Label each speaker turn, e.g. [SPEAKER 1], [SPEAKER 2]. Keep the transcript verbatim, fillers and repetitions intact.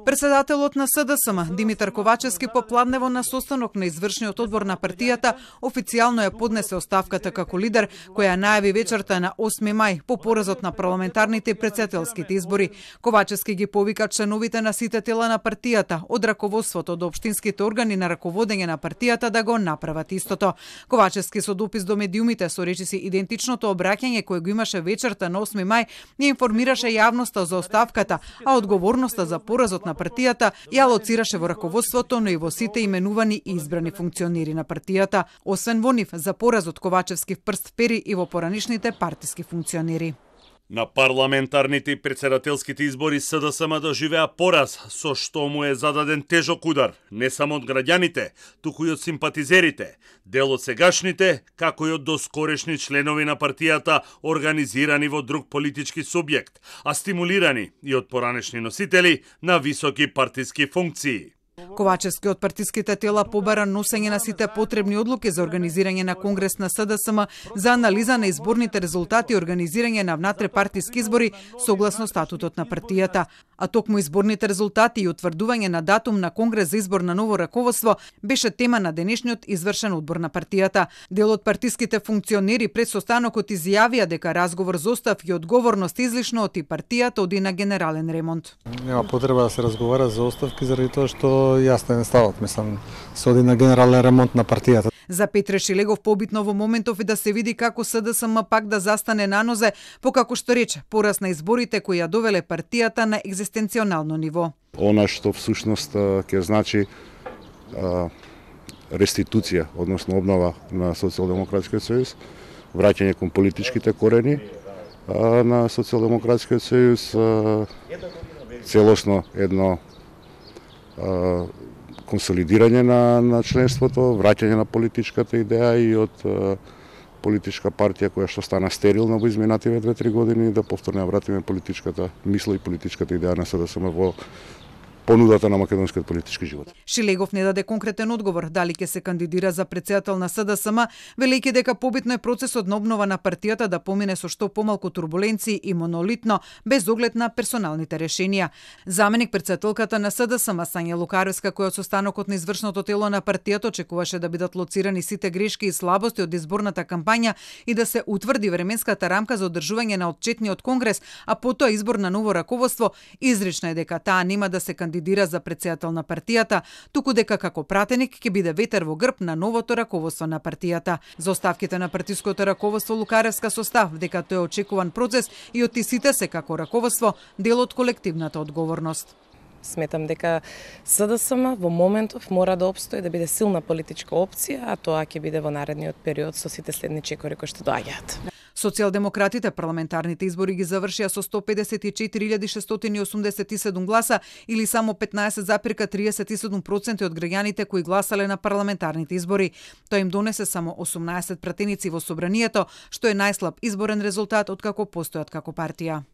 [SPEAKER 1] Председателот на СДСМ Димитар Ковачевски попладнево на состанок на извршниот одбор на партијата официјално ја поднесе оставката како лидер, која најави вечерта на осми мај по поразот на парламентарните и претседателските избори. Ковачевски ги повика членовите на сите тела на партијата, од раководството до општинските органи на раководење на партијата да го направат истото. Ковачевски со допис до медиумите со речиси идентичното обраќање кое го имаше вечерта на осми мај ја информираше јавноста за оставката, а одговорноста за поразот на партијата ја лоцираше во раководството, но и во сите именувани и избрани функционери на партијата, освен во нив за поразот Ковачевски прст пери и во поранишните партиски функционери.
[SPEAKER 2] На парламентарните и претседателските избори СДСМ доживеа пораз, со што му е зададен тежок удар, не само од граѓаните, туку и од симпатизерите, дел од сегашните, како и од доскорешни членови на партијата, организирани во друг политички субјект, а стимулирани и од поранешни носители на високи партиски функции.
[SPEAKER 1] Ковачевски од партиските тела побара носење на сите потребни одлуки за организирање на конгрес на СДСМ за анализа на изборните резултати и организирање на внатре-партиски избори согласно статутот на партијата. А токму изборните резултати и утврдување на датум на конгрес за избор на ново раководство беше тема на денешниот извршен одбор на партијата. Дел од партиските функционери пред состанокот изјавија дека разговор за оставки и одговорност излишно од и партијата оди на генерален ремонт.
[SPEAKER 3] Нема потреба да се разговара за оставки заради тоа што јасно е ставот, мислам, се оди на генерален ремонт на партијата.
[SPEAKER 1] За Петре Шилегов побитно во моментов е да се види како СДСМ пак да застане на нозе, по како што рече, пораз на изборите кои ја довеле партијата на екзистенционално ниво.
[SPEAKER 4] Она што всушност ќе значи а, реституција, односно обнова на Социјалдемократскиот сојуз, враќање кон политичките корени а, на Социјалдемократскиот сојуз, а, целосно едно а, консолидирање на, на членството, враќање на политичката идеја и од а, политичка партија која што стана стерилна во изминативе две-три години, да повторно ја вратиме политичката мисла и политичката идеја на СДСМ во понудата на македонскиот политички живот.
[SPEAKER 1] Шилегов не даде конкретен одговор дали ќе се кандидира за претседател на СДСМ, велејќи дека побитно е процесот на обнова на партијата да помине со што помалку турбуленции и монолитно, без оглед на персоналните решенија. Заменик претседателката на СДСМ Сања Лукаревска, која од состанокот на извршното тело на партијата очекуваше да бидат лоцирани сите грешки и слабости од изборната кампања и да се утврди временската рамка за одржување на отчетниот конгрес, а потоа избор на ново раководство, изречна е дека таа нема да се кандидира кандидира за претседател на партијата, туку дека како пратеник ќе биде ветер во грб на новото раководство на партијата. За оставките на партиското раководство Лукаревска состав дека тој е очекуван процес и од сите се како раководство дел од колективната одговорност.
[SPEAKER 5] Сметам дека СДСМ во моментов мора да опстои, да биде силна политичка опција, а тоа ќе биде во наредниот период со сите следни чекори кои што доаѓаат.
[SPEAKER 1] Социјалдемократите парламентарните избори ги завршија со сто педесет и четири илјади шестстотини и осумдесет и седум гласа или само петнаесет запирка триесет и седум проценти од граѓаните кои гласале на парламентарните избори. Тоа им донесе само осумнаесет пратеници во собранието, што е најслаб изборен резултат откако постојат како партија.